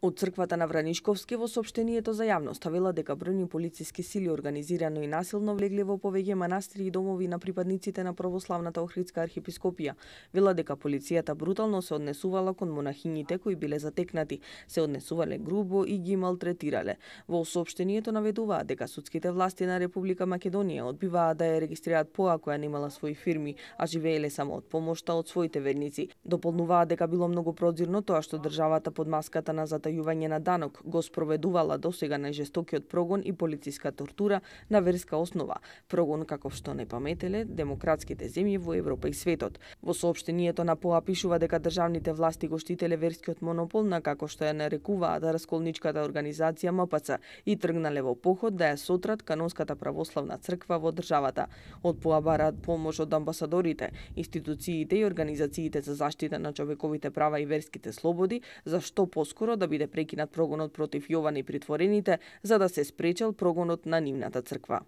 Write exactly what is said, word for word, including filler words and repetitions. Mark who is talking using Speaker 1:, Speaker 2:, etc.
Speaker 1: Од црквата на Вранишковски во соопштението за јавност вела дека бројни полициски сили организирано и насилно влегле во повеќе манастири и домови на припадниците на православната Охридска архиепископија. Вела дека полицијата брутално се однесувала кон монахињите кои биле затекнати, се однесувале грубо и ги малтретирале. Во соопштението наведуваат дека судските власти на Република Македонија одбиваат да ја регистрираат поа која немала своји фирми, а живееле само од помошта од своите верници. Дополнуваат дека било многу прозирно тоа што државата под маската на затајување на данок го спроведувала досега најжестокиот прогон и полициска тортура на верска основа, прогон каков што не паметеле демократските земји во Европа и светот. Во соопштението на ПОА пишува дека државните власти го штителе верскиот монопол на како што ја нарекуваат расколничката организација М П Ц и тргнале во поход да ја сотрат канонската православна црква во државата. Од ПОА бараат помош од амбасадорите, институциите и организациите за заштита на човековите права и верските слободи, за што поскоро да биде прекинат прогонот против Јован и притворените, за да се спречел прогонот на нивната црква.